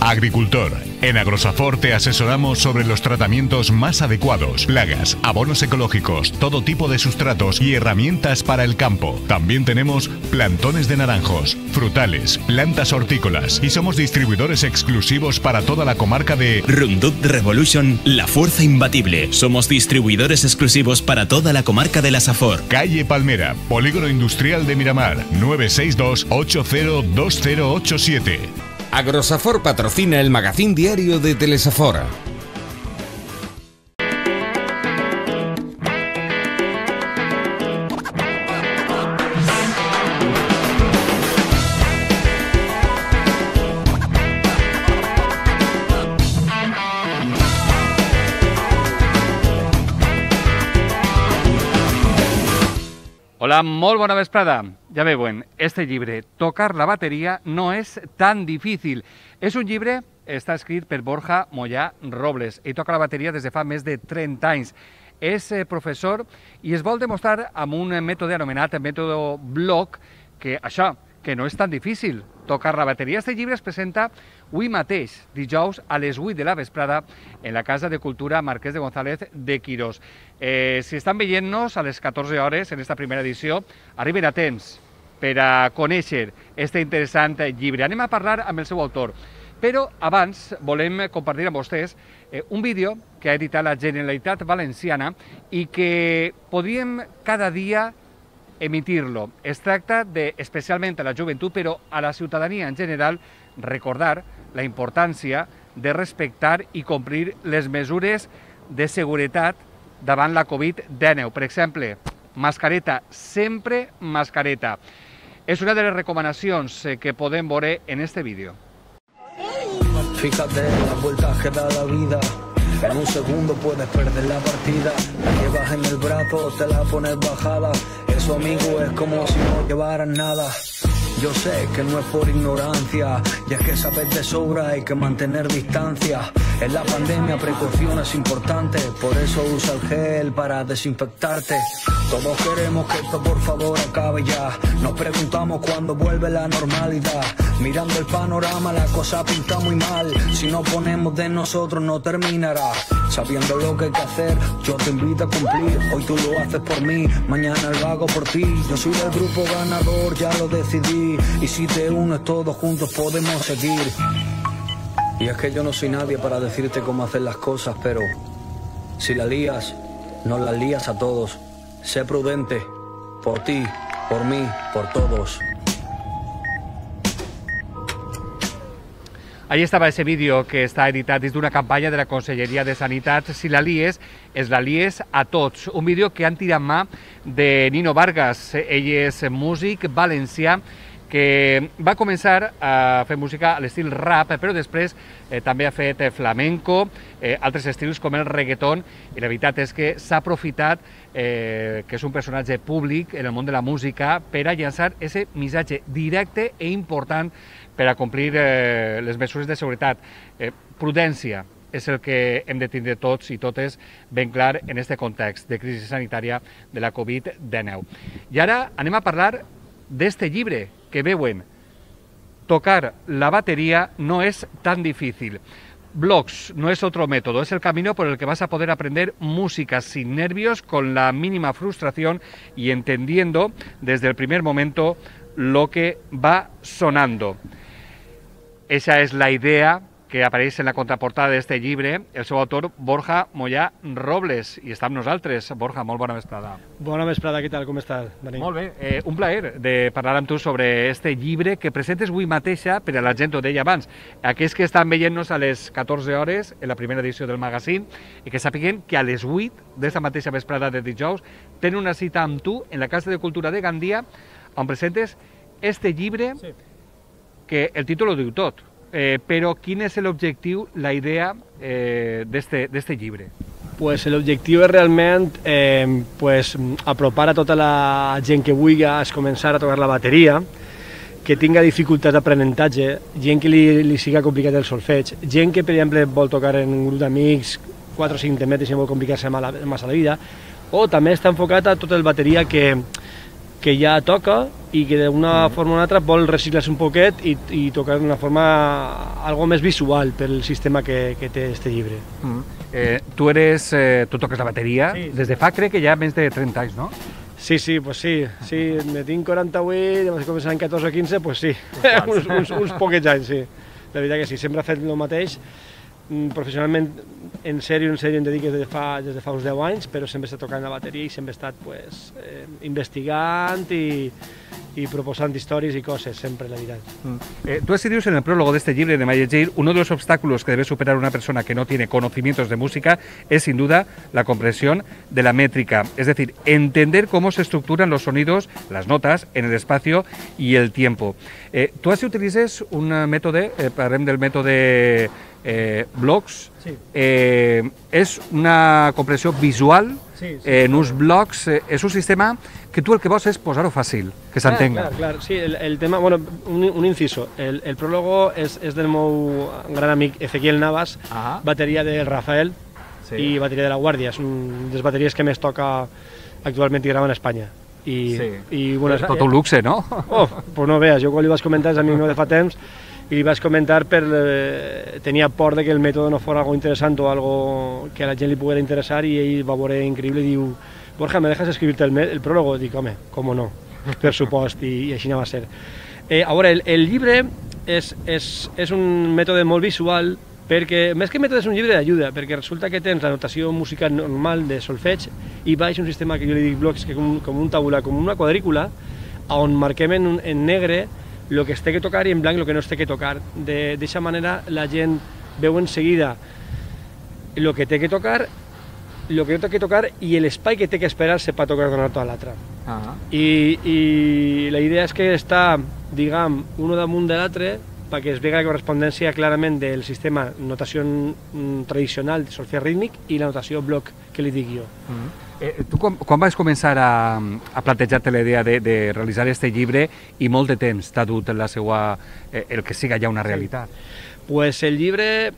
Agricultor. En Agrosafor te asesoramos sobre los tratamientos más adecuados, plagas, abonos ecológicos, todo tipo de sustratos y herramientas para el campo. También tenemos plantones de naranjos, frutales, plantas hortícolas y somos distribuidores exclusivos para toda la comarca de Roundup Revolution, la fuerza imbatible. Somos distribuidores exclusivos para toda la comarca de la Safor. Calle Palmera, Polígono Industrial de Miramar, 962 802087. Agrosafor patrocina el magazín diario de Telesafora. Hola, molt bona vesprada. Ja veuen, este llibre, Tocar la bateria, no és tan difícil. És un llibre, està escrit per Borja Moyà Robles. Ell toca la bateria des de fa més de 30 anys. És professor i es vol demostrar amb un mètode anomenat mètode bloc que això, que no és tan difícil tocar la bateria. Este llibre es presenta avui mateix, dijous, a les 8 de la vesprada, en la Casa de Cultura Marquès de González de Quirós. Si estan veient-nos a les 14 hores en esta primera edició, arriben a temps per a conèixer este interessant llibre. Anem a parlar amb el seu autor, però abans volem compartir amb vostès un vídeo que ha editat la Generalitat Valenciana i que podríem cada dia emitir-lo. Es tracta de, especialment a la joventut, però a la ciutadania en general, recordar la importància de respectar i complir les mesures de seguretat davant la Covid-19. Per exemple, mascareta, sempre mascareta. És una de les recomanacions que podem veure en este vídeo. Fíjate las vueltas que da la vida. En un segundo puedes perder la partida. La llevas en el brazo, te la pones bajada. Eso, amigo, es como si no llevaras nada. Yo sé que no es por ignorancia, y es que sabes de sobra, hay que mantener distancia. En la pandemia precaución es importante, por eso usa el gel para desinfectarte. Todos queremos que esto por favor acabe ya. Nos preguntamos cuándo vuelve la normalidad. Mirando el panorama la cosa pinta muy mal. Si no ponemos de nosotros no terminará. Sabiendo lo que hay que hacer, yo te invito a cumplir. Hoy tú lo haces por mí, mañana lo hago por ti. Yo soy del grupo ganador, ya lo decidí. Y si te unes todos juntos podemos seguir. Y es que yo no soy nadie para decirte cómo hacer las cosas, pero si la lías, nos las lías a todos. Sé prudente, por ti, por mí, por todos. Ahí estava ese vídeo que està editat dins d'una campanya de la Conselleria de Sanitat. Si la lies, es la lies a tots. Un vídeo que han tirat mà de Nino Vargas. Ell és músic valencià que va començar a fer música a l'estil rap, però després també ha fet flamenco, altres estils com el reggaeton, i la veritat és que s'ha aprofitat que és un personatge públic en el món de la música per a llançar aquest missatge directe i important per a complir les mesures de seguretat. Prudència és el que hem de tindre tots i totes ben clar en aquest context de crisi sanitària de la Covid-19. I ara anem a parlar d'este llibre que veuen, Tocar la batería no es tan difícil. Blogs no es otro método, es el camino por el que vas a poder aprender música sin nervios, con la mínima frustración y entendiendo desde el primer momento lo que va sonando. Esa es la idea que apareix en la contraportada d'este llibre, el seu autor, Borja Moyà Robles, i està amb nosaltres. Borja, molt bona vesprada. Bona vesprada, què tal, com estàs, Dani? Molt bé, un plaer de parlar amb tu sobre este llibre que presentes avui mateixa, per a la gent ho deia abans, aquells que estan veient-nos a les 14 hores en la primera edició del magazín, i que sàpiguen que a les 8 d'esta mateixa vesprada de dijous tenen una cita amb tu en la Casa de Cultura de Gandia, on presentes este llibre que el títol ho diu tot. Però quin és l'objectiu, la idea d'este llibre? Pues l'objectiu és realment apropar a tota la gent que vulgui començar a tocar la bateria, que tinga dificultats d'aprenentatge, gent que li siga complicat el solfeig, gent que, per exemple, vol tocar en un grup d'amics 4 o 5 temes i vol complicar-se massa la vida, o també està enfocat a tota la bateria que que ja toca i que d'una forma o una altra vol reciclar-se un poquet i tocar d'una forma algo més visual pel sistema que té este llibre. Tu toques la bateria des de fa, crec que ja més de 30 anys, no? Sí, pues sí, me tinc 48, vaig començar en 14 o 15, pues sí, uns poquets anys, sí. La veritat que sí, sempre he fet el mateix, professionalment, en sèrio em dedico des de fa uns 10 anys, però sempre he estat tocant la bateria i sempre he estat investigant i proposant històries y cosas, siempre la verdad. Tú escribes en el prólogo de este libro de Mayegir, uno de los obstáculos que debe superar una persona que no tiene conocimientos de música es sin duda la comprensión de la métrica, es decir, entender cómo se estructuran los sonidos, las notas, en el espacio y el tiempo. Tú así utilices un método, parlem del método blocs, sí. És una comprensió visual, sí. En uns blocs, és un sistema que tu el que vols és posar-ho fàcil, que s'entenga. Clar, sí, el tema, bueno, un inciso, el prólogo és del meu gran amic Ezequiel Navas, bateria del Rafael i bateria de La Guàrdia, és una de les bateries que més toca actualment i grava en Espanya. I bueno, és tot un luxe, no? Pues no veus, jo quan li vaig comentar, és amic meu de fa temps, i li vaig comentar tenia por de que el mètode no fos algo interessant o algo que a la gent li poguera interessar i ell va veure increïble i diu Borja, ¿me dejas escribirte el prólogo? Dic, home, com no, per supost, i així va ser. A veure, el llibre és un mètode molt visual perquè, més que mètode, és un llibre d'ajuda, perquè resulta que tens la notació musical normal de solfeig i baix un sistema que jo li dic blocs, que com un tabular, com una quadrícula, on marquem en negre el que es té que tocar i en blanc el que no es té que tocar. D'aquesta manera la gent veu en seguida el que té que tocar, el que no té que tocar i l'espai que té que esperar-se per tocar d'una nota a l'altra. I la idea és que està, diguem, un damunt de l'altre perquè es vegi la correspondència clarament del sistema notació tradicional de solfeig rítmic i la notació bloc que li dic jo. Tu quan vas començar a plantejar-te la idea de realitzar este llibre i molt de temps t'ha dut el que siga ja una realitat? Pues el llibre,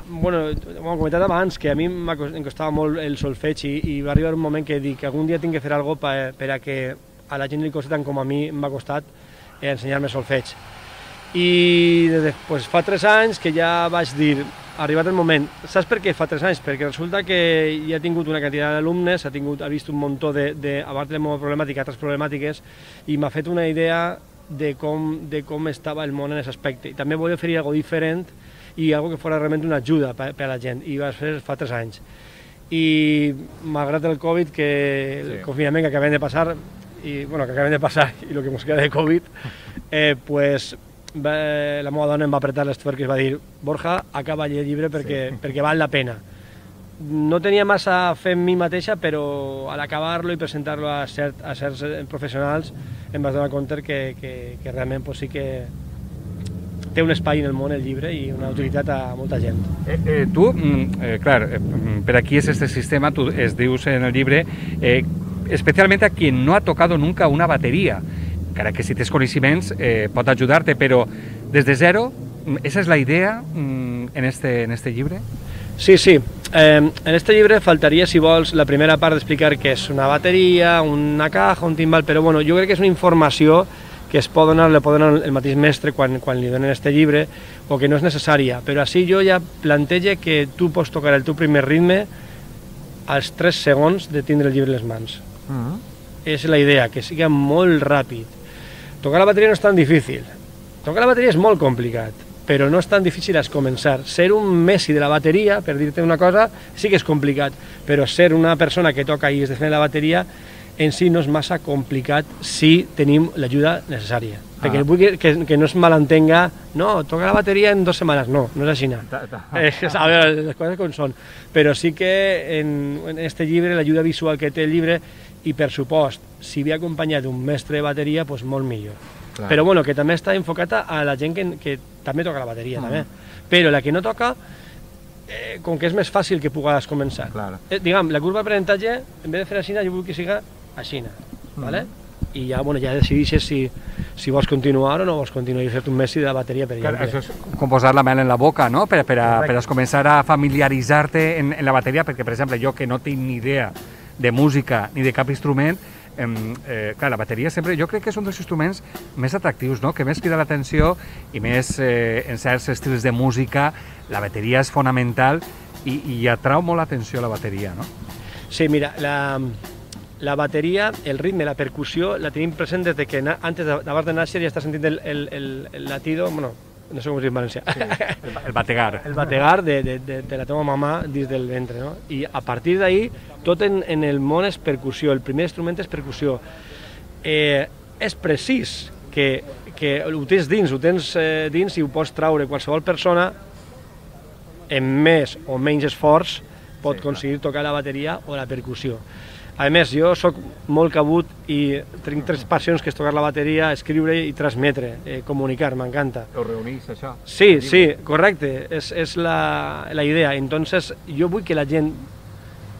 bueno, ho hem comentat abans, que a mi em costava molt el solfeig i va arribar un moment que dic que algun dia tinc que fer alguna cosa per a que a la gent li costi tant com a mi m'ha costat ensenyar-me solfeig. I pues, fa 3 anys que ja vaig dir, arribat el moment, saps per què fa 3 anys? Perquè resulta que ja ha tingut una quantitat d'alumnes, ha vist un muntó a part de la meva problemàtica, altres problemàtiques, i m'ha fet una idea de com estava el món en aquest aspecte. I també volia oferir alguna cosa diferent i alguna que fos realment una ajuda per a la gent, i va ser fa 3 anys. I malgrat el Covid, el confinament que acabem de passar, i el que ens queda de Covid, pues la meva dona em va apretar les tuerques i va dir Borja, acaba el llibre perquè val la pena. No tenia massa fe en mi mateixa, però a l'acabar-lo i presentar-lo a certs professionals em vaig donar compte que realment pues, sí que té un espai en el món el llibre i una utilitat a molta gent. Tu, clar, per aquí és este sistema, tu es dius en el llibre, especialmente a quien no ha tocado nunca una batería. Cara que si tens coneixements pot ajudar-te, però des de zero, ¿esa es la idea en este llibre? Sí. En este llibre faltaria, si vols, la primera part d'explicar què és una bateria, una caja, un timbal, però bueno, jo crec que és una informació que es pot donar, el mateix mestre quan li donen este llibre, o que no és necessària, però així jo ja plantege que tu pots tocar el teu primer ritme als 3 segons de tindre el llibre en les mans. És la idea, que sigui molt ràpid. Tocar la bateria no és tan difícil. Tocar la bateria és molt complicat, però no és tan difícil es començar. Ser un messi de la bateria, per dir-te una cosa, sí que és complicat, però ser una persona que toca i es defèn la bateria en si no és massa complicat si tenim l'ajuda necessària. Perquè vull que no es malentenga, no, toca la bateria en 2 setmanes, no és així. A veure, les coses com són. Però sí que en este llibre, l'ajuda visual que té el llibre, i per supost, si ve acompanyat d'un mestre de bateria, doncs molt millor. Però bueno, que també està enfocat a la gent que també toca la bateria, també. Però la que no toca, com que és més fàcil que pugues començar. Diguem, la curva d'aprenentatge, en vez de fer així, jo vull que siga així, ¿vale? I ja decideixes si vols continuar o no vols continuar i fer-te un messi de la bateria, per exemple. Això és com posar la mel en la boca, no? Per a començar a familiaritzar-te en la bateria, perquè, per exemple, jo que no tinc ni idea de música ni de cap instrument, Clar, la bateria sempre, jo crec que és un dels instruments més atractius, no? Que més crida l'atenció i més en certs estils de música, la bateria és fonamental i atrau molt l'atenció la bateria, no? Sí, mira, la bateria, el ritme, la percussió, la tenim present des de que antes d'abans de néixer ja està sentint el latido, bueno, no sé com es diu en valencià. Sí, el bategar. El bategar de la teva mamà dins del ventre, no? I a partir d'ahir, tot en el món és percussió, el primer instrument és percussió. És precís que ho tens dins i ho pots traure qualsevol persona amb més o menys esforç pot aconseguir tocar la bateria o la percussió. A més, jo sóc molt cabut i tinc 3 passions, que és tocar la bateria, escriure i transmetre, comunicar, m'encanta. Ho reunís, això? Sí, correcte, és la idea. Entonces, jo vull que la gent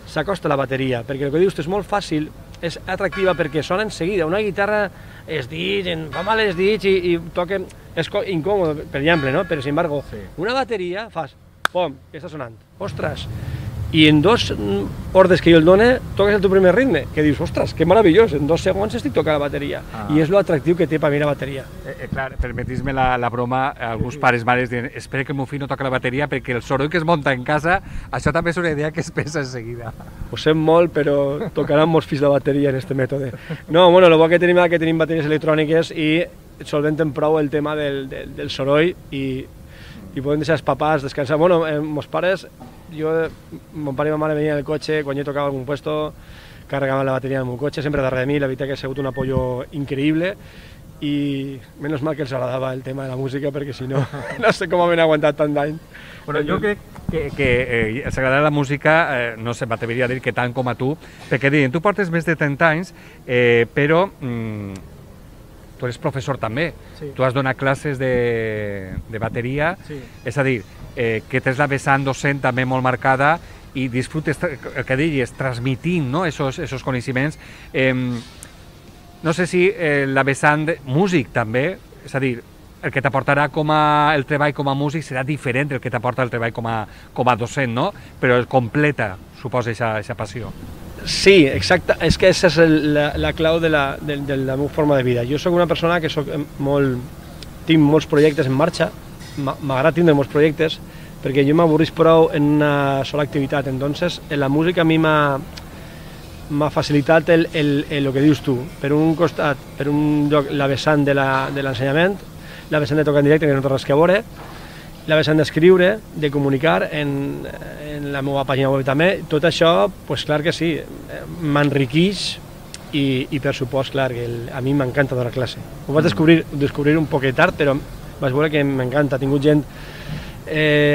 s'acosta a la bateria, perquè el que dius és molt fàcil, és atractiva perquè sona en seguida. Una guitarra es dits, fa mal els dits i toca... És incòmode, per exemple, no? Però, sin embargo, una bateria fas, pom, que està sonant. Ostres! I en 2 ordres que jo el done, toques el teu primer ritme, que dius, ostres, que meravellós, en 2 segons estic tocant la bateria. I és lo atractiu que té per mi la bateria. Clar, permetis-me la broma, alguns pares, mares diuen, espera que el meu fill no toca la bateria perquè el soroll que es munta en casa, això també és una idea que es pensa en seguida. Ho sé molt, però tocaran molts fills de bateria en este mètode. No, bueno, el bo que tenim és que tenim bateries electròniques i solventen prou el tema del soroll i podem deixar els papàs descansar. Bueno, meus pares, mon pare i ma mare venien en el cotxe, quan jo tocava algun puesto, carregaven la bateria en el meu cotxe, sempre darrere de mi, la veritat que ha sigut un apoyo increïble i menys mal que els agradava el tema de la música perquè si no, no sé com havien aguantat tant d'any. Bueno, jo crec que els agrada la música, no sé, m'atreviria a dir que tant com a tu, perquè diuen, tu portes més de 30 anys, però tu eres professor també, tu has donat classes de bateria, és a dir, que tens la vessant docent també molt marcada i disfrutes, el que diguis, transmitint esos coneixements. No sé si la vessant músic també, és a dir, el que t'aportarà el treball com a músic serà diferent del que t'aporta el treball com a docent, no? Però el completa, suposa, aquesta passió. Sí, exacte, és que aquesta és la clau de la meva forma de vida. Jo sóc una persona que tinc molts projectes en marxa, m'agrada tindre molts projectes, perquè jo m'avorrís prou en una sola activitat. Entonces, la música a mi m'ha facilitat el que dius tu. Per un costat, per un lloc, la vessant de l'ensenyament, la vessant de tocar en directe, que no té res que veure, la vessant d'escriure, de comunicar en la meva pàgina web també. Tot això, doncs clar que sí, m'enriqueix i per supost, clar, que a mi m'encanta donar classe. Ho vaig descobrir un poquet tard, però vaig veure que m'encanta. He tingut gent,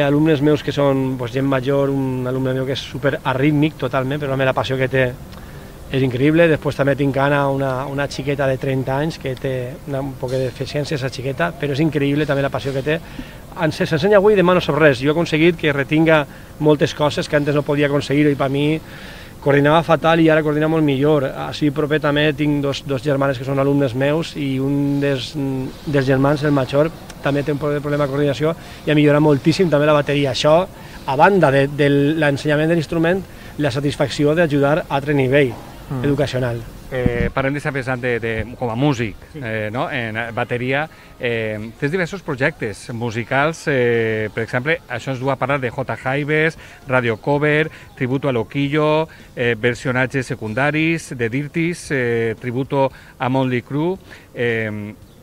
alumnes meus que són gent major, un alumne meu que és super arrítmic totalment, però la passió que té és increïble. Després també tinc Anna, una xiqueta de 30 anys que té un poc de deficiència, aquesta xiqueta, però és increïble també la passió que té. S'ensenya avui i demà no sap res. Jo he aconseguit que retinga moltes coses que antes no podia aconseguir i per mi coordinava fatal i ara coordina molt millor. Així proper també tinc dos germanes que són alumnes meus i un dels germans, el major, també té un problema de coordinació i ha millorat moltíssim també la bateria. Això, a banda de l'ensenyament de l'instrument, la satisfacció d'ajudar a altre nivell educacional. Parlem d'aquesta vessant com a músic, en bateria. Tens diversos projectes musicals, per exemple, això ens du a parlar de J. Jaives, Radio Cover, Tributo a Loquillo, versionatges secundaris, de Dirtis, Tributo a Motley Crue.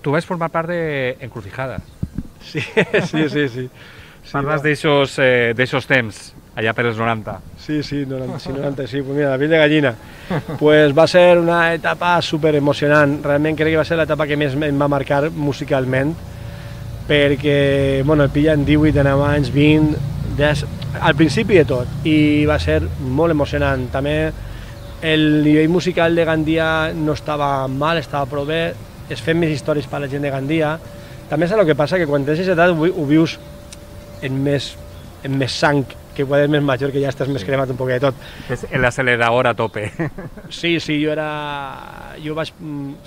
Tu vas formar part d'Encrucijada. Sí. Parles d'aixòs temps, allà per els 90. Sí, 90, sí. Pues mira, la piel de gallina. Pues va ser una etapa súper emocionant. Realment crec que va ser l'etapa que més em va marcar musicalment, perquè, bueno, el pillen 18 anys, 20, al principi de tot, i va ser molt emocionant. També el nivell musical de Gandia no estava mal, estava prou bé, es fem més històries per a la gent de Gandia. També és el que passa, que quan tens aquesta edat ho vius en més sang, que quan és més major, que ja estàs més cremat un poc de tot. És l'accelerador a tope. Sí, jo vaig...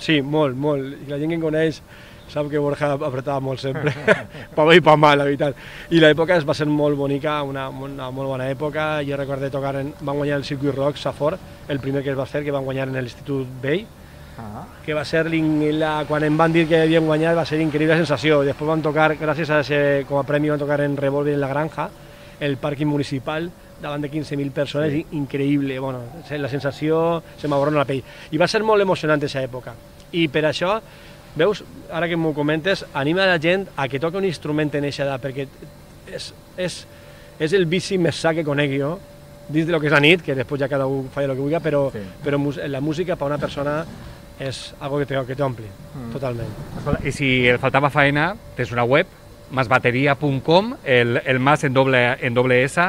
Sí, molt. I la gent que em coneix sap que Borja apretava molt sempre. Pa bé i pa mal, la veritat. I l'època va ser molt bonica, una molt bona època. Jo recordo tocar, van guanyar el Circuit Rock Safor, el primer que es va fer, que van guanyar en l'Institut Vell, que va ser, quan em van dir que havien guanyat, va ser increïble sensació. I després van tocar, gràcies a ese, com a premi, van tocar en Revolver en la Granja, el pàrquing municipal, davant de 15.000 persones, increïble. Bueno, la sensació se m'aborrona la pell. I va ser molt emocionant aquesta època. I per això, veus, ara que m'ho comentes, anima la gent a que toqui un instrument en aquesta edat, perquè és el vici més sa que conec jo, dins de lo que és la nit, que després ja cada un fa el que vulgui, però la música per a una persona és algo que t'ompli, totalment. I si el faltava faena, tens una web, masbateria.com, el mas en doble S,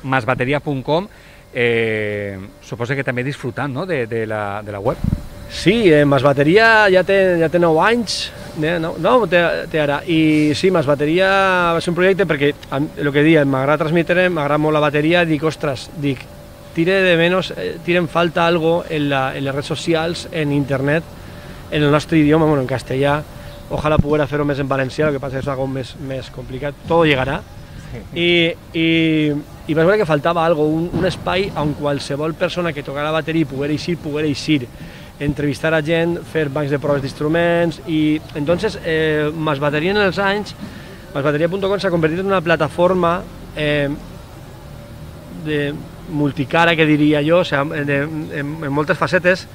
masbateria.com, suposo que també disfrutant, no?, de la web. Sí, Masbateria ja té 9 anys, té ara, i sí, Masbateria va ser un projecte perquè, el que dic, m'agrada transmetre, m'agrada molt la bateria, dic, ostres, tira en falta algo en les redes socials, en internet, en el nostre idioma, bueno, en castellà, ojalá pudiera fer-ho més en valencià, el que passa és algo més complicat, todo llegará, i vas veure que faltava algo, un espai on qualsevol persona que tocara la bateria poguera eixir, entrevistar a gent, fer bancs de proves d'instruments, i entonces Masbateria en els anys, masbateria.com s'ha convertit en una plataforma de multicara, que diria jo, en moltes facetes,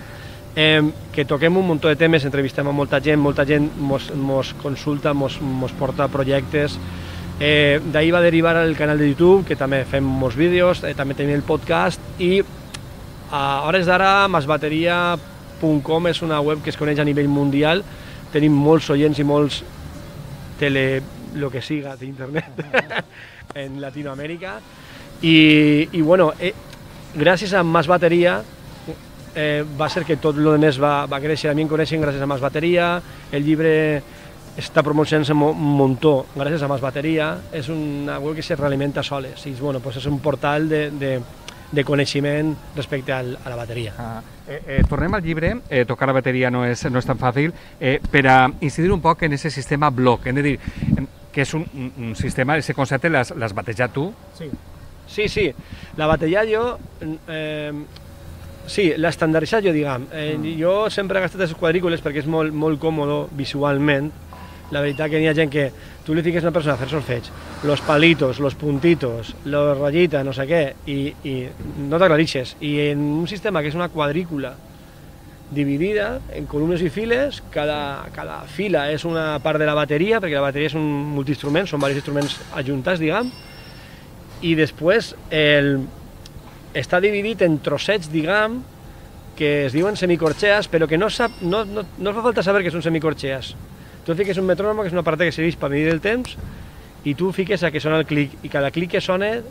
que toquem un munt de temes, entrevistem a molta gent mos consulta, mos porta projectes. D'ahir va derivar el canal de YouTube, que també fem molts vídeos, també tenim el podcast, i a hores d'ara masbateria.com és una web que es coneix a nivell mundial, tenim molts oients i molts lo que siga d'internet en Latinoamèrica, i bueno, gràcies a Masbateria va ser que tot el més va créixer. A mi em coneixen gràcies a Masbateria, el llibre està promocionant-se un muntó gràcies a Masbateria, és una web que se realimenta sola, bueno, pues és un portal de coneixement respecte a la bateria. Tornem al llibre, tocar la bateria no és tan fàcil, per a incidir un poc en aquest sistema bloc, hem de dir que és un sistema, aquest concepte l'has batejat tu? Sí, la batejat jo, sí, l'estandarditzat jo, diguem. Jo sempre he gastat les quadrícules perquè és molt còmode visualment. La veritat que hi ha gent que tu li fiques a una persona a fer solfeig, los palitos, los puntitos, los rayitas, no sé què, i no t'aclarixes. I en un sistema que és una quadrícula dividida en columnes i files, cada fila és una part de la bateria, perquè la bateria és un multiinstrument, són diversos instruments ajuntats, diguem, i després està dividit en trossets, diguem, que es diuen semicorxees, però que no fa falta saber que són semicorxees. Tu fiques un metrònom, que és una part que serveix per medir el temps, i tu fiques a que sona el clic, i cada clic que sona,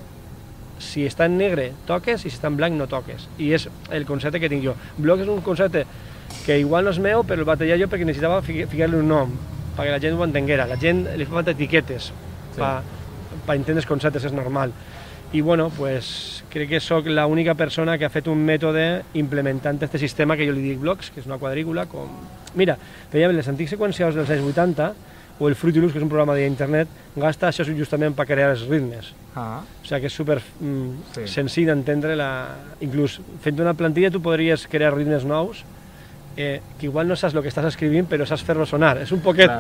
si està en negre, toques, i si està en blanc, no toques. I és el concepte que tinc jo. Bloc és un concepte que igual no és meu, però el batejar jo perquè necessitava ficar-li un nom, perquè la gent ho entenguera. La gent li fa falta etiquetes per entendre els conceptes, és normal. I bueno, pues crec que sóc l'única persona que ha fet un mètode implementant aquest sistema que jo li dic blocs, que és una quadrícula com... Mira, veiem les antics seqüenciadors dels anys 80, o el Fruity Loops, que és un programa d'internet, gasta això justament per crear els ritmes. O sigui que és super senzill d'entendre. Inclús fent una plantilla tu podries crear ritmes nous, que igual no saps el que estàs escrivint, però saps fer-lo sonar. És un poquet...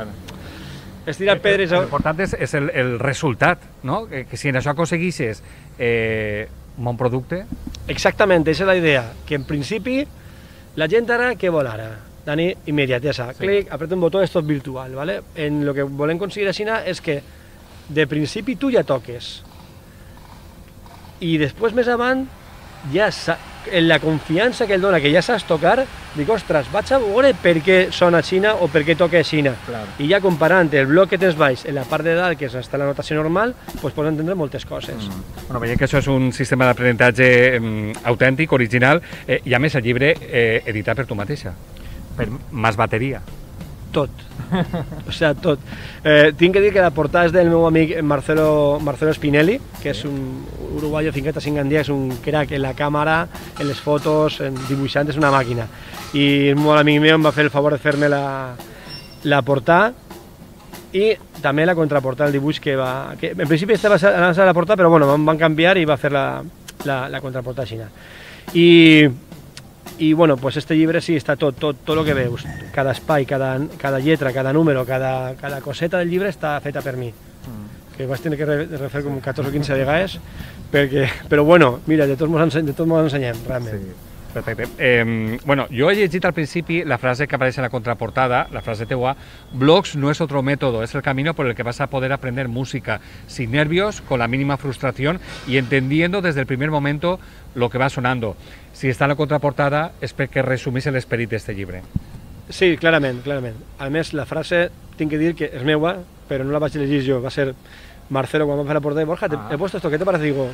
És tirar pedres... L'important és el resultat, no? Que si en això aconseguixes un bon producte... Exactament, aquesta és la idea. Que en principi, la gent ara, què vol ara? Dani, immediatesa. Clic, apreta un botó, és tot virtual, ¿vale? En el que volem aconseguir així és que de principi tu ja toques. I després, més avant, ja en la confiança que ell dona, que ja saps tocar, dic, ostres, vaig a veure per què sona Xina o per què toca Xina. I ja comparant el bloc que tens baix en la part de dalt, que està la notació normal, pots entendre moltes coses. Bueno, veiem que això és un sistema d'aprenentatge autèntic, original, i a més el llibre editat per tu mateixa, per Masbateria. Tot. O sigui, tot. Tinc que dir que la portada és del meu amic Marcelo Spinelli, que és un uruguayo fincat a Singandia, és un crack en la càmera, en les fotos, en dibuixant, és una màquina. I un molt amic meu em va fer el favor de fer-me la portada i també la contraportada, el dibuix que va... En principi estava a la portada, però bueno, em van canviar i va fer la contraportada així. I I bueno, pues este llibre sí, està tot el que veus, cada espai, cada lletra, cada número, cada coseta del llibre està feta per mi, que vaig tenir que refer com 14 o 15 vegades, però bueno, mira, de tots mots ensenyem, realment. Sí. Perfecte. Bueno, jo he llegit al principi la frase que apareix en la contraportada, la frase teua: blogs no es otro método, es el camino por el que vas a poder aprender música sin nervios, con la mínima frustración y entendiendo desde el primer momento lo que va sonando. Si està en la contraportada és perquè resumís l'esperit d'aquest llibre. Sí, clarament. A més, la frase, tinc que dir que és meua, però no la vaig llegir jo, va ser Marcelo quan va fer la portada. Borja, he puesto esto, ¿qué te parece? Digo,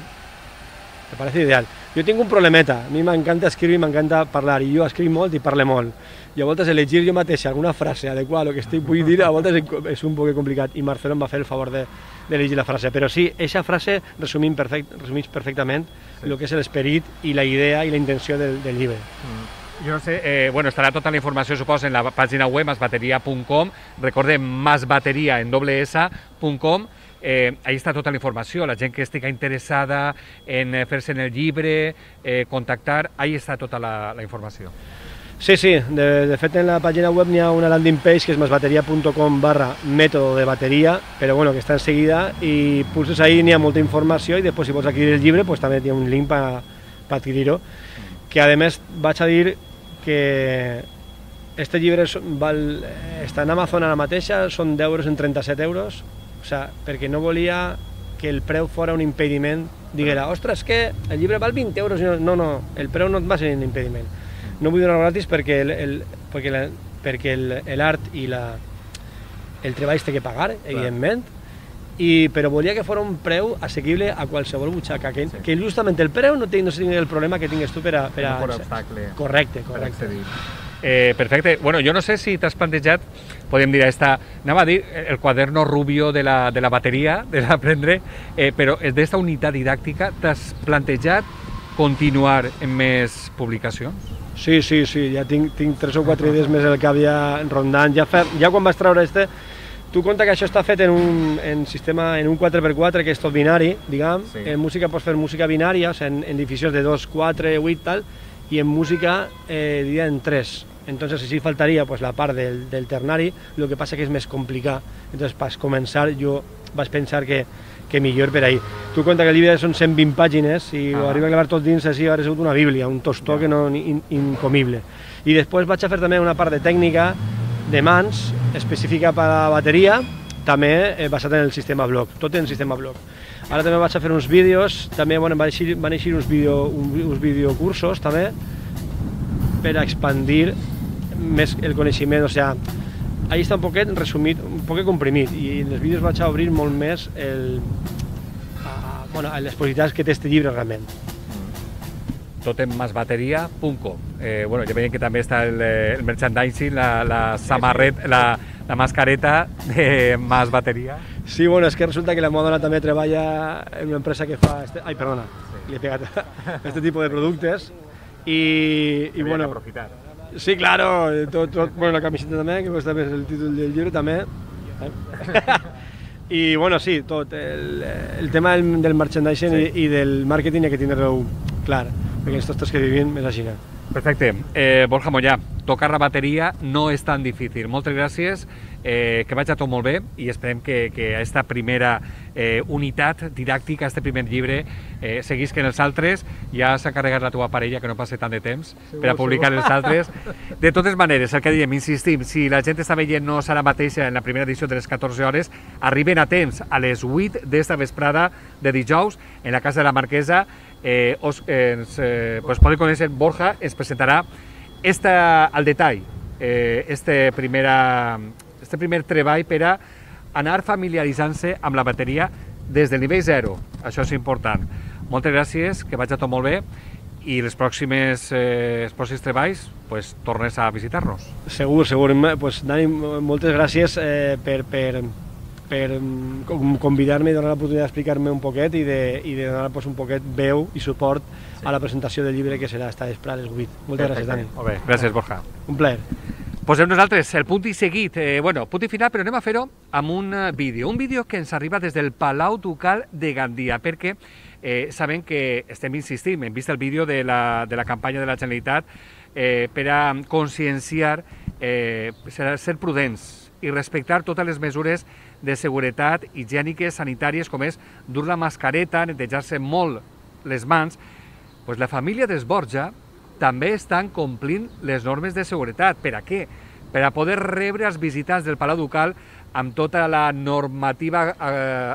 me parece ideal. Jo tinc un problemeta, a mi m'encanta escriure i m'encanta parlar, i jo escric molt i parle molt. I a voltes elegir jo mateix alguna frase adequada a lo que vull dir, a voltes és un poc complicat, i Marcelo em va fer el favor d'elegir la frase. Però sí, aquesta frase resumís perfectament el que és l'esperit i la idea i la intenció del llibre. Jo no sé, bueno, estarà tota la informació, suposo, en la pàgina web masbateria.com, recordem, masbateria en s.com. Ahí està tota la informació, la gent que estigui interessada en fer-se en el llibre, contactar, ahí està tota la informació. Sí, de fet en la pàgina web n'hi ha una landing page que és masbateria.com/método de bateria, però bueno, que està en seguida, i pulses ahí, n'hi ha molta informació, i després si vols adquirir el llibre pues també hi ha un link per adquirir-ho, que a més vaig a dir que este llibre està en Amazon ara mateixa, són d'€, en 37 €, o sea, perquè no volia que el preu fora un impediment, diguera, ostres, que el llibre val 20 €, no, el preu no et va ser un impediment. No vull donar gratis perquè l'art i el treball té que pagar, evidentment, però volia que fora un preu assequible a qualsevol butxaca, que justament el preu no tingui el problema que tingues tu per a... No fora obstacle. Correcte. Perfecte. Bueno, jo no sé si t'has plantejat, podem dir, anava a dir el quaderno rubio de la bateria, de l'aprendre, però d'esta unitat didàctica t'has plantejat continuar en més publicacions? Sí, ja tinc 3 o 4 idees més al cap ja rondant. Ja quan vaig treure tu compta que això està fet en un 4x4, que és tot binari, diguem. En música pots fer música binària, o sigui, en divisions de 2, 4, 8, tal, i en música diria en 3. Entonces sí faltaria pues, la part del ternari, el que passa que és més complicat. Entonces, per començar, jo vaig pensar que millor per ahí. Tu compta que el llibre són 120 pàgines i ho arriba a clavar tot dins, així hauria sigut una bíblia, un tostó que no incomible. I després vaig a fer també una part de tècnica de mans, específica per a la bateria, també basat en el sistema bloc, tot en sistema bloc. Ara també vaig a fer uns vídeos, també van eixir uns videocursos també, per a expandir més el coneixement, o sigui, ahí està un poquet resumit, un poquet comprimit, i en els vídeos vaig a obrir molt més les possibilitats que té aquest llibre realment. Tot en masbateria.com. Bueno, ja veiem que també està el merchandising, la samarreta, la mascareta de Masbateria. Sí, bueno, és que resulta que la meva dona també treballa en una empresa que fa... Ai, perdona, li he pegat este tipus de productes i bueno... aprofitar. Sí, claro, bueno, la camiseta també, que costa més el títol del llibre també. I bueno, sí, tot, el tema del merchandising i del màrqueting hi ha que tindre-ho clar, perquè els tostos que vivim és així. Perfecte. Borja Mollà, tocar la bateria no és tan difícil. Moltes gràcies, que vagi tot molt bé i esperem que aquesta primera unitat didàctica, aquest primer llibre, seguisca en els altres. Ja s'ha encarregat la teva parella, que no passi tant de temps, per a publicar els altres. De totes maneres, el que diem, insistim, si la gent està veient no serà mateixa en la primera edició de les 14 hores, arriben a temps a les 8 d'esta vesprada de dijous en la Casa de la Marquesa. Podeu conèixer Borja, ens presentarà al detall este primer treball per a anar familiaritzant-se amb la bateria des del nivell 0. Això és important. Moltes gràcies, que vagi tot molt bé i els pròxims treballs tornes a visitar-nos. Segur. Dani, moltes gràcies per convidar-me i donar l'oportunitat d'explicar-me un poquet i de donar un poquet veu i suport a la presentació del llibre que serà esta vespre a les 8. Moltes gràcies, Dani. Molt bé, gràcies, Borja. Un plaer. Posem nosaltres el punt i seguit, punt i final, però anem a fer-ho amb un vídeo que ens arriba des del Palau Ducal de Gandia, perquè sabem que estem insistint, hem vist el vídeo de la campanya de la Generalitat per a conscienciar, ser prudents i respectar totes les mesures de seguretat higièniques, sanitàries, com és dur la mascareta, netejar-se molt les mans. Pues la família d'Esborja també estan complint les normes de seguretat. Per a què? Per a poder rebre els visitants del Palau Ducal amb tota la normativa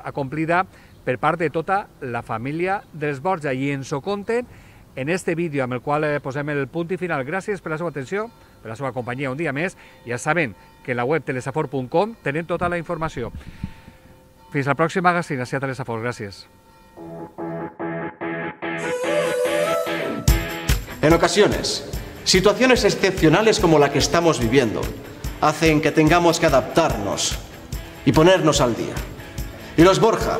acomplida per part de tota la família d'Esborja. I ens ho conten en este vídeo amb el qual posem el punt i final. Gràcies per la seva atenció, per la seva companyia un dia més. Ja saben que en la web telesafor.com tenen tota la informació. Fins al pròxim magazine, a Telesafor. Gràcies. En ocasiones, situaciones excepcionales como la que estamos viviendo hacen que tengamos que adaptarnos y ponernos al día. Y los Borja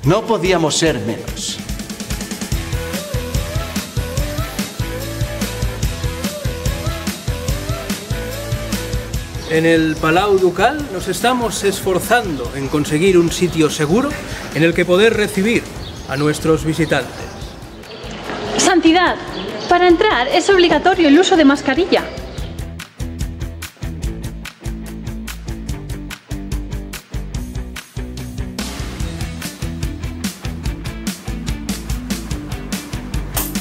no podíamos ser menos. En el Palau Ducal nos estamos esforzando en conseguir un sitio seguro en el que poder recibir a nuestros visitantes. Santidad, para entrar es obligatorio el uso de mascarilla.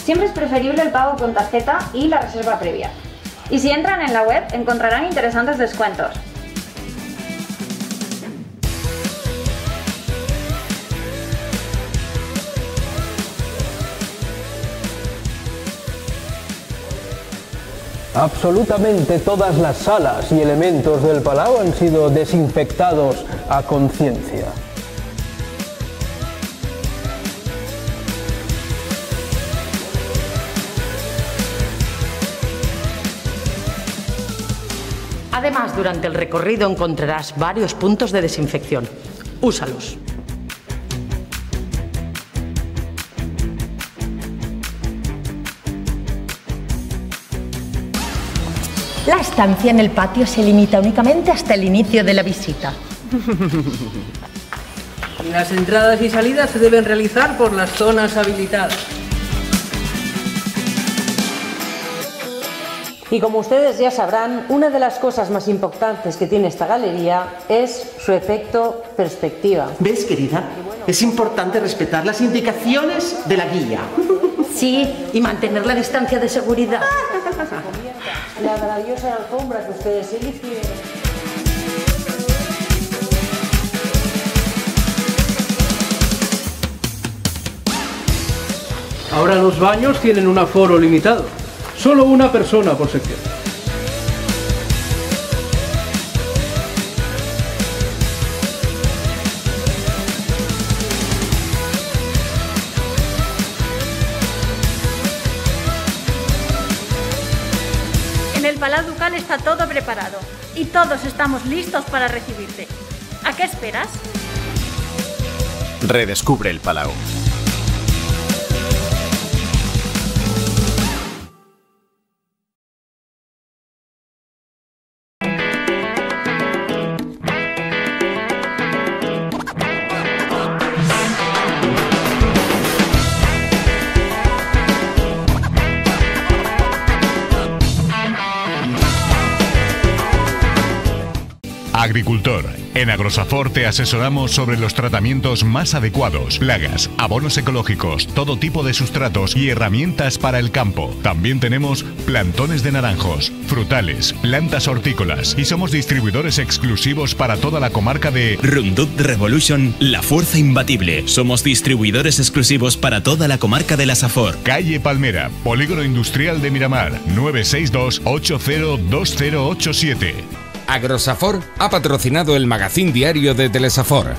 Siempre es preferible el pago con tarjeta y la reserva previa. Y si entran en la web encontrarán interesantes descuentos. Absolutamente todas las salas y elementos del Palau han sido desinfectados a conciencia. Además, durante el recorrido encontrarás varios puntos de desinfección. Úsalos. La estancia en el patio se limita únicamente hasta el inicio de la visita. Las entradas y salidas se deben realizar por las zonas habilitadas. Y como ustedes ya sabrán, una de las cosas más importantes que tiene esta galería es su efecto perspectiva. ¿Ves, querida? Es importante respetar las indicaciones de la guía. Sí, y mantener la distancia de seguridad. La maravillosa alfombra que ustedes eligieron. Ahora los baños tienen un aforo limitado. Solo una persona por sección. En el Palau Ducal está todo preparado y todos estamos listos para recibirte. ¿A qué esperas? Redescubre el Palau. Agricultor. En Agrosafor te asesoramos sobre los tratamientos más adecuados, plagas, abonos ecológicos, todo tipo de sustratos y herramientas para el campo. También tenemos plantones de naranjos, frutales, plantas hortícolas y somos distribuidores exclusivos para toda la comarca de Roundup Revolution, la fuerza imbatible. Somos distribuidores exclusivos para toda la comarca de la Safor. Calle Palmera, Polígono Industrial de Miramar, 962 802087. Agrosafor ha patrocinado el magazín diario de Telesafor.